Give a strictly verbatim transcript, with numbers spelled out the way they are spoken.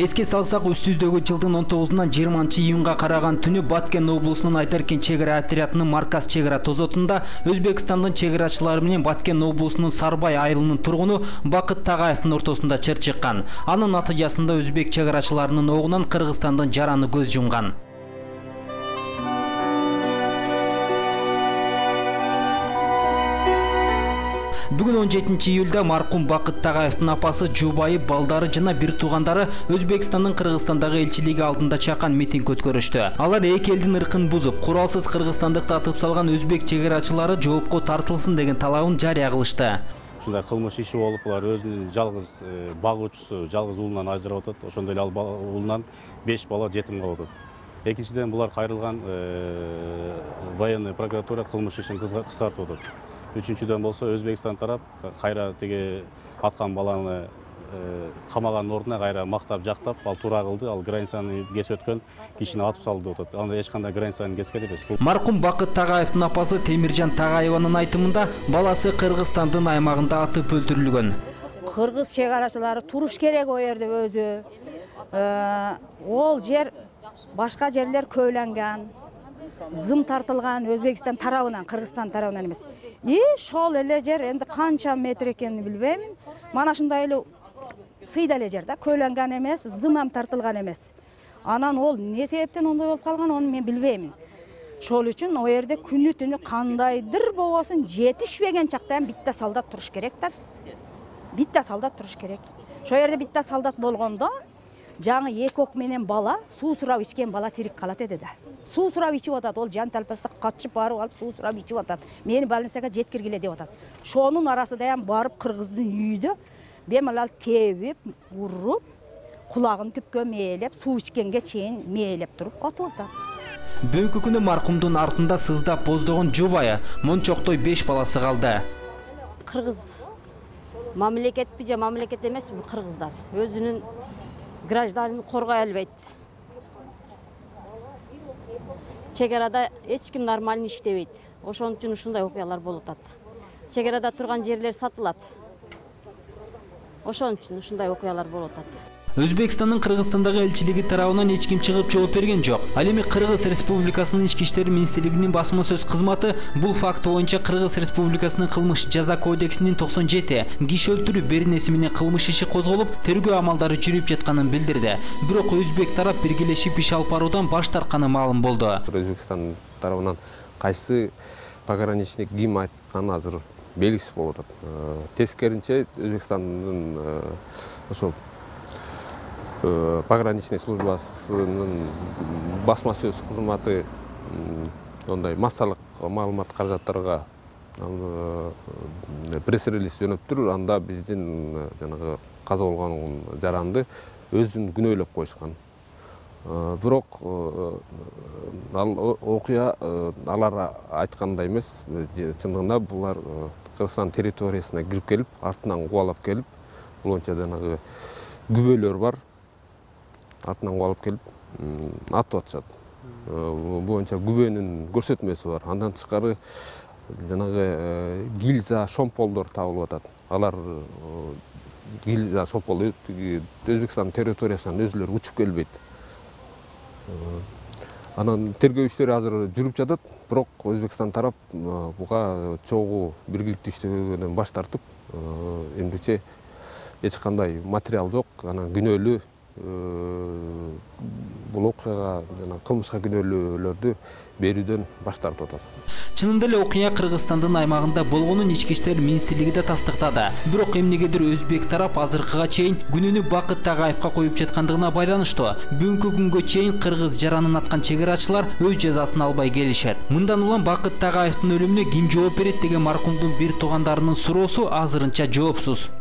Эске салсак, үстүздөгү жылдын он тогузунан жыйырманчы июнга караган түнү Баткен облусунун Айдаркен чек ара отрядынын Марказ чек ара тозотунда Өзбекстандын чек арачылары менен Баткен облусунун Сарбай айылынын тургуну Бакыт Тагайевдин ортосунда чыр чыккан. Анын натыйжасында өзбек чек арачыларынын огунан Кыргызстандын жараны көз жумган. Бүгүн он жетинчи июлда маркум Бакыт Тагайевдин апасы, жубайы, балдары жана бир туугандары Өзбекстандын Кыргызстандагы элчилиги алдында чакан митинг өткөрүштү. Алар эки элдин ыркын бузуп, куралсыз кыргызстандыкты атып салган өзбек чек арачылары жоопко тартылсын деген талабын жарыя кылышты. Ушундай кылмыш иши болуп, булар өзүнүн жалгыз багуучусу, жалгыз уулунан ажырап атат. Ошондой эле ал уулунан беш бала жетим калып атат. Экинчиден, булар кайрылган военный прокуратура кылмыш ишин кыскартып атат. Үчүнчүдөн болсо, Өзбекстан тарап кайра тиги аткан баланы камаган ордуна кайра мактап жактап, ал туура кылды, ал границаны кесип өткөн кишини атып салды деп атат. Анда эч кандай границаны кескен эмес. Маркум Бакыт Тагайевдин апасы Темиржан Тагаеванын айтымында, баласы Кыргызстандын аймагында атып өлтүрүлгөн. Кыргыз чек арачылары туруш керек о жерде өзү. Ол жер башка жерлер көйлөнгөн. Зым тартылган Өзбекстан тарабынан, Кыргызстан тарабынан эмес. И шол эле жер энди канча метр экенин билбейм. Мана шундай эле сыйда эле жер да, көйлөнгөн эмес, зым ам тартылган эмес. Анан ол эмне себептен ондой болуп калган, аны мен билбейм. Шол үчүн о жерде күнү түнү кандайдыр болбосун жетишпеген чакта битте солдат туруш керек да. Битте солдат туруш керек. Шо жерде битте солдат болгондо жаңы эки ок менен бала, суу сурап ичкен бала тирик калат эди да. Суу сурап ичип атат, ол жан талпаста качып барып алып суу сурап ичип атат. Мени больницага жеткиргиле деп атат. Шонун арасында барып кыргыздын үйүдө бемалал тебип, уруп, кулагын түпкө мээлеп, суу ичкенге чейин мээлеп туруп атып атат. Бүгүнкү күнү маркумдун артында сыздап боздогон жубайы, мончоктой беш баласы калды. Кыргыз мамлекетпи же мамлекет эмеспи кыргыздар өзүнүн гражданын коргой албайт. Чек арада эч ким нормально иштебейт. Ошон үчүн ушундай окуялар болуп атат. Чек арада турган жерлер сатылат. Ошон үчүн ушундай окуялар болуп атат. Өзбекстандын Кыргызстандагы элчилиги тарабынан эч ким чыгып жооп берген жок. Ал эми Кыргыз Республикасынын Ички иштер министрлигинин басма сөз кызматы бул факт боюнча Кыргыз Республикасынын кылмыш жаза кодексинин токсон жети киши өлтүрүү беренеси менен кылмыш иши козголуп, тергөө амалдары жүрүп жатканын билдирди. Бирок өзбек тарап биргелешип иш алып баруудан баш тартканы маалым болду. Өзбекстан тарабынан кайсы пограничник ким айтканы азыр белгисиз болуп атат. Тескеринче Өзбекстандын ошо пограничный службасынын басма сөз кызматы ондай массалык маалымат каражаттарга пресс-релиз жөнөптүр. Анда биздин жанагы каза болгон жаранды өзүн күнөөлөп коюшкан. Бирок ал окуя алар айткандай эмес. Чындыгында булар Кыргызстан территориясына кирип келип, артынан кубалап келип, булонча жанагы күбөлөр бар. Артынан кубалап келип атып атышат. Буга күбөнүн көрсөтмөсү бар. Андан тышкары жанагы гильза, шомполдор табылып атат. Алар гильза, шомпол Өзбекстан территориясынан өзүлөрү учуп келбейт. Анан тергөө иштери азыр жүрүп жатат. Бирок Өзбекстан тарап буга чогуу биргиликтүү иштөөгөнөн баш тартып, эмдиче эч кандай материал жок, анан күнөөлүү бул окуяга жана кылмышка күнөөлүүлөрдү берүүдөн баш тартып атат. Чынында эле окуя Кыргызстандын аймагында болгонун Ички иштер министрлиги да тастыктады. Бирок эмнегедир өзбек тарап азыркыга чейин күнүнү Бакыт Тагаевга коюп жаткандыгына байланыштуу. Бүгүнкү күнгө чейин кыргыз жаранын аткан чек арачылар өз жазасын албай келишет. Мындан улам Бакыт Тагаевдин өлүмүнө ким жооп берет деген маркумдун бир туугандарынын суроосу азырынча жоопсуз.